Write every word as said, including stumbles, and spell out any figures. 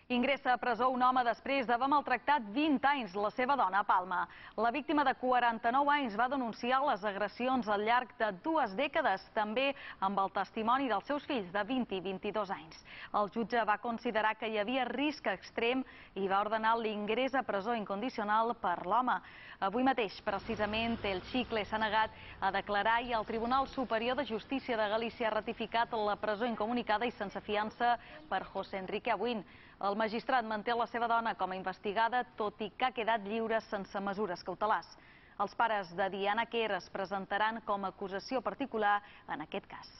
Ingressa a presó un home després d'haver maltractat vint anys la seva dona a Palma. La víctima de quaranta-nou anys va denunciar les agressions al llarg de dues dècades, també amb el testimoni dels seus fills de vint i vint-i-dos anys. El jutge va considerar que hi havia risc extrem i va ordenar l'ingrés a presó incondicional per l'home. Avui mateix, precisament, el Xicle s'ha negat a declarar i el Tribunal Superior de Justícia de Galícia ha ratificat la presó incomunicada i sense fiança per José Enrique Abuin. El magistrat manté la seva dona com a investigada, tot i que ha quedat lliure sense mesures cautelars. Els pares de Diana Quer es presentaran com a acusació particular en aquest cas.